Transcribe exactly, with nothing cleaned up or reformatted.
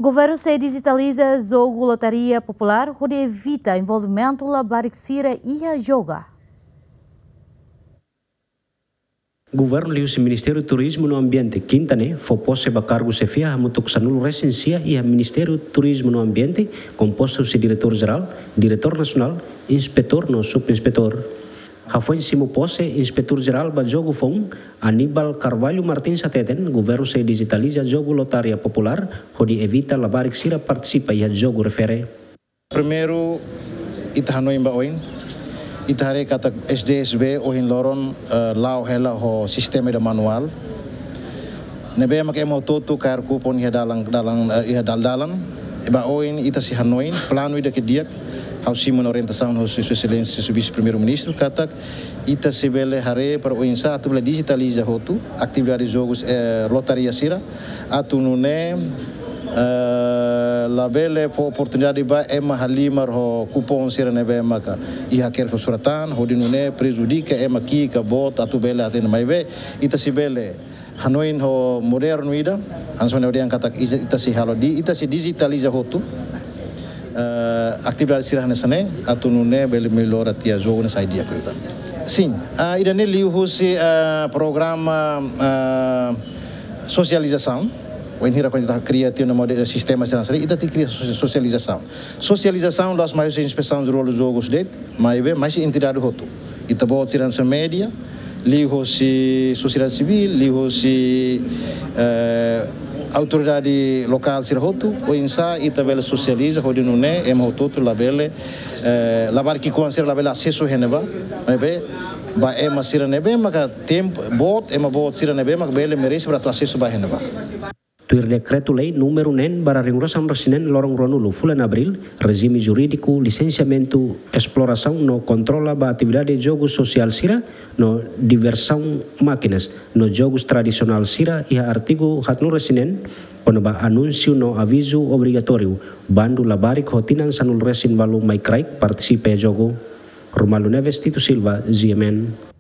Governu sei dijitaliza jogu lotaria populár hodi evita envolvimentu labarik sira iha jogu. Governu liuhusi Ministériu Turizmu no Ambiente, Kinta ne'e, fó pose ba kargu xefia hamutuk sanulu resin sia iha Ministériu Turizmu no Ambiente, kompostu husi diretór jerál, diretór nasionál, inspetór no subinspetór. Hafoin simu pose Inspetór Jerál ba Jogu foun, Aníbal Carvalho Martins hateten, governu sei dijitaliza jogu lotaria populár, hodi evita labarik sira partisipa iha jogu refere. Primeiru, ita hanoin ba oin, ita haree katak S D S B ohin loron, eh, la'o hela ho sistema ida manuál. Ne'ebé mak ema hotu-hotu kaer kupon iha dalan, dalan, eh, iha dal-dalan. Ba oin ita sei hanoin, planu ida ke di'ak, ha'u simu ona orientasaun husi Sua Exelénsia, Sua Vise-Primeiru-Ministru, katak ita sei bele haree para oinsá atu bele dijitaliza hotu atividade jogus, eh, lotaria sira, atu nune'e, eh, labele fó oportunidade ba ema halimar ho kupon sira ne'ebé maka iha hakerek ho surat tan, hodi nune'e prejudika ema ki'ik ka boot atu bele hatene. Maibé ita sei bele hanoin ho modernu ida, hanesan ohin dehan katak ita, ita sei halo di, ita sei dijitaliza hotu, eh, atividade sira hanesan ne'e, atu nune'e bele mellora tiha jogu ne'e sai di'ak liután. Sin, ah, ida-ne'e liuhusi, ah, programa, ah, sosializasaun, wainhira kuandu ita kria tiha ona modelu sistema sira hanesan ne'e, ita tenke kria sosi-, sosializasaun. Sosializasaun la'ós mai husi Inspesaun Jerál Jogus de'it, maibé mai husi entidade hotu. Ita-boot sira hanesan média, liuhusi sosiedade sivíl, liuhusi, eh, autoridade lokál sira hotu, oinsá ita bele sosializa, hodi nune'e ema hotu-hotu labele, eh, labarik ki'ikoan sira labele asesu iha ne'ebá, maibé ba ema sira ne'ebé maka tempu boot, ema boot sira ne'ebé maka bele merese para atu asesu ba iha ne'ebá. Tuir dekretu-lei númeru neen barra rihun ruasaan resin neen lorong ruanulu fulan Abríl, rejime jurídiku, lisensiamentu, esplorasaun no kontrola ba atividade jogu sosiál sira no diversaun mákinas no jogus tradisionál sira iha artigu haatnulu resin neen, kona-ba anúnsiu no avizu obrigatóriu, bandu labarik ho tinan sanulu resin ualu mai kraik partisipa iha jogu. Romualdo Neves, Tito Silva, G M N.